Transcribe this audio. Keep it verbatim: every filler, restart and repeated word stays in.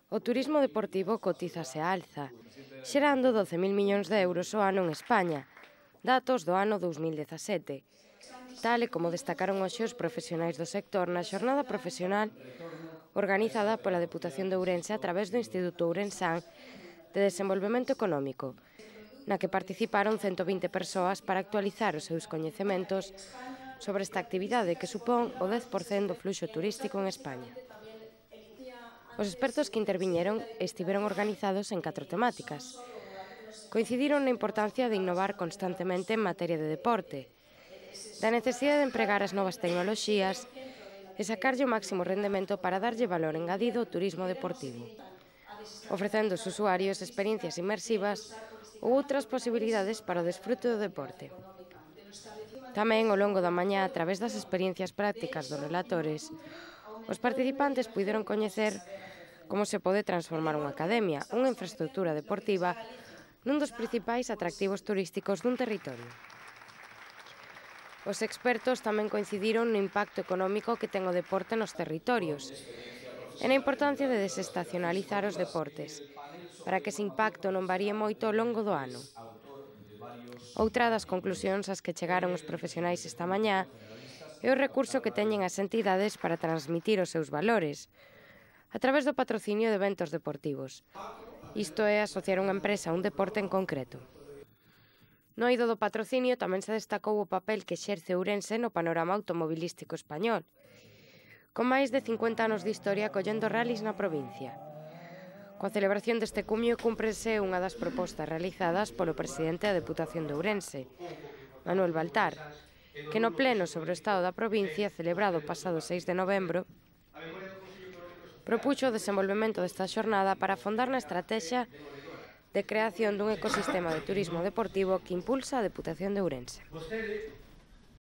O turismo deportivo cotízase á alza, xerando doce mil millóns de euros ao ano en España, datos do ano dous mil dezasete, tal e como destacaron hoxe os profesionais do sector na xornada profesional organizada pola Deputación de Ourense a través do Instituto Ourensán de Desenvolvemento Económico, na que participaron cento vinte persoas para actualizar os seus coñecementos sobre esta actividade que supón o dez por cento do fluxo turístico en España. Os expertos que interviñeron estiveron organizados en catro temáticas. Coincidiron na importancia de innovar constantemente en materia de deporte, da necesidade de empregar as novas tecnoloxías e sacarlle o máximo rendemento para darlle valor engadido ao turismo deportivo, ofrecendo aos usuarios experiencias inmersivas ou outras posibilidades para o desfrute do deporte. Tamén, ao longo da mañá, a través das experiencias prácticas dos relatores, os participantes puideron coñecer como se pode transformar unha academia, unha infraestructura deportiva, nun dos principais atractivos turísticos dun territorio. Os expertos tamén coincidiron no impacto económico que ten o deporte nos territorios e na importancia de desestacionalizar os deportes, para que ese impacto non varíe moito ao longo do ano. Outra das conclusións ás que chegaron os profesionais esta mañá é o recurso que teñen as entidades para transmitir os seus valores, a través do patrocinio de eventos deportivos. Isto é asociar unha empresa a un deporte en concreto. No eido do patrocinio tamén se destacou o papel que exerce Ourense no panorama automobilístico español, con máis de cincuenta anos de historia collendo rallies na provincia. Coa celebración deste cumio cúmprese unha das propostas realizadas polo presidente da Deputación de Ourense, Manuel Baltar, que no pleno sobre o estado da provincia, celebrado o pasado seis de novembro, propuxo o desenvolvemento desta xornada para afondar na estrategia de creación dun ecosistema de turismo deportivo que impulsa a Deputación de Ourense.